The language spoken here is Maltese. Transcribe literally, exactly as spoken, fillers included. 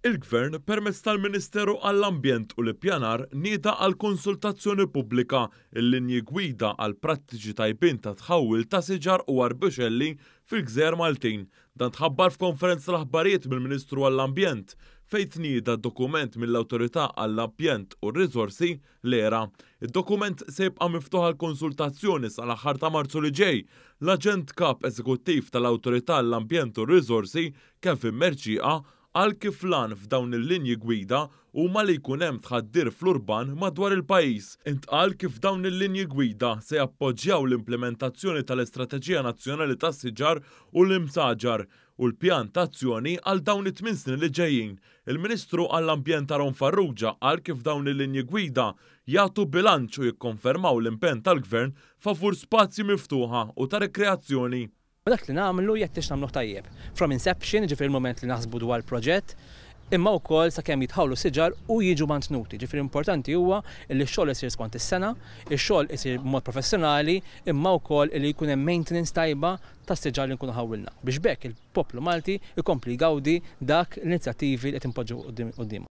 Il-Gvern permezz tal-Ministeru għall-Ambjent u l-Ippjanar nieda għal konsultazzjoni pubblika il-linji gwida għal prattiċi tajbin ta' tħawwil ta' siġar u arbuxelli fil-Gżejjer Maltin. Dan tħabbar f'konferenza tal-aħbarijiet mill-Ministru għall-Ambjent fejn tnieda dokument mill-Awtorità għall-Ambjent u r-Riżorsi, l-E R A. Id-dokument se jibqa' miftuħ għal konsultazzjoni sal-aħħar ta' Marzu li ġej. L-Aġent Kap Eżekuttiv tal-Awtorità għall-Ambjent u r-Riżorsi, Kevin Mercieca, qal kif l-għan f'dawn il-linji gwida huma li jkun hemm tħaddir fl-urban madwar il-pajjiż. Intqal kif dawn il-linji gwida se jappoġġjaw l-implementazzjoni tal-Istrateġija Nazzjonali tas-Siġar u l-Imsaġar u l-pjan ta' azzjoni għal dawn it-tmien snin li ġejjin. Il-Ministru għall-Ambjent Aaron Farrugia qal kif dawn il-linji gwida jagħtu bilanċ u jikkonfermaw l-impenn tal-Gvern favur spazji miftuħa u ta' rekreazzjoni. Dak li nagħmlu jeħtieġ nagħmluh tajjeb. From inception, ġifieri il-moment li naħsbu dwar proġett, imma wkoll sakemm jitħawlu siġar u jiġu mantnuti. Ġifieri importanti huwa li x-xogħol isir skont is-sena, ix-xogħol isir b'mod professjonali, imma wkoll li jkun hemm maintenance tajba tas-siġar li nkunu ħawwilna. Biex b'hekk il-poplu Malti jkompli jgawdi dak l-inizjattivi li qed inpoġġu qudiem.